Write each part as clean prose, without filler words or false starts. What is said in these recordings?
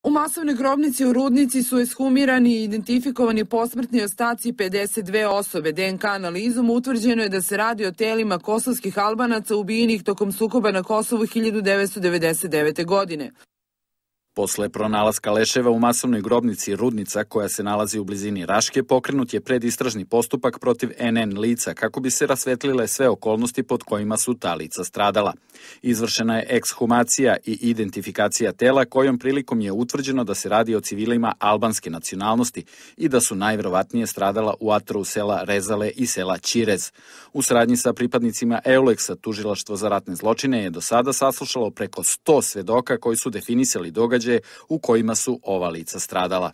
U masovnoj grobnici u Rudnici su ekshumirani i identifikovani posmrtni ostaci 52 osobe. DNK analizom utvrđeno je da se radi o telima kosovskih Albanaca ubijenih tokom sukoba na Kosovu 1999. godine. Posle pronalaska leševa u masovnoj grobnici Rudnica, koja se nalazi u blizini Raške, pokrenut je predistražni postupak protiv NN lica kako bi se rasvetlile sve okolnosti pod kojima su ta lica stradala. Izvršena je ekshumacija i identifikacija tela, kojom prilikom je utvrđeno da se radi o civilima albanske nacionalnosti i da su najverovatnije stradala u atrovu sela Rezale i sela Ćirez. U saradnji sa pripadnicima EULEX-a, Tužilaštvo za ratne zločine je do sada saslušalo preko 100 svedoka koji su definisali događaje u kojima su ova lica stradala.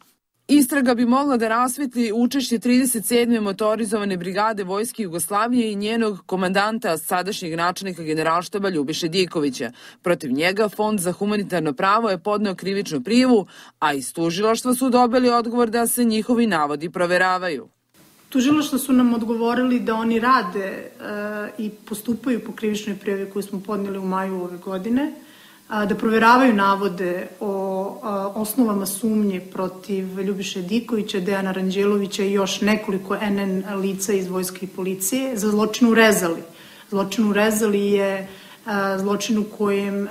Istraga bi mogla da rasvetli učešće 37. motorizovane brigade Vojske Jugoslavije i njenog komandanta, sadašnjeg načelnika Generalštaba Ljubiše Dikovića. Protiv njega Fond za humanitarno pravo je podneo krivičnu prijavu, a iz tužilaštva su dobili odgovor da se njihovi navodi proveravaju. Tužilaštva su nam odgovorili da oni rade i postupaju po krivičnoj prijavi koju smo podneli u maju ove godine, da proveravaju navode o osnovama sumnje protiv Ljubiše Dikovića, Dejana Ranđelovića i još nekoliko NN lica iz Vojske i policije za zločin u Rezali. Zločin u Rezali je zločin u kojem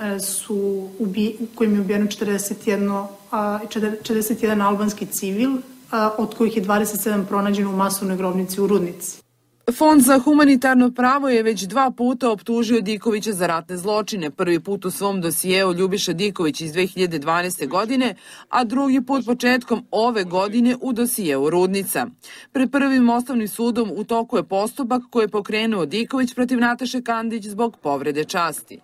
je ubijeno 41 albanski civil, od kojih je 27 pronađeno u masovnoj grobnici u Rudnici. Fond za humanitarno pravo je već 2 puta optužio Dikovića za ratne zločine. Prvi put u svom dosijeu Ljubiša Diković iz 2012. godine, a drugi put početkom ove godine u dosijeu Rudnica. Pred prvim osnovnim sudom u toku je postupak koji je pokrenuo Diković protiv Nataše Kandić zbog povrede časti.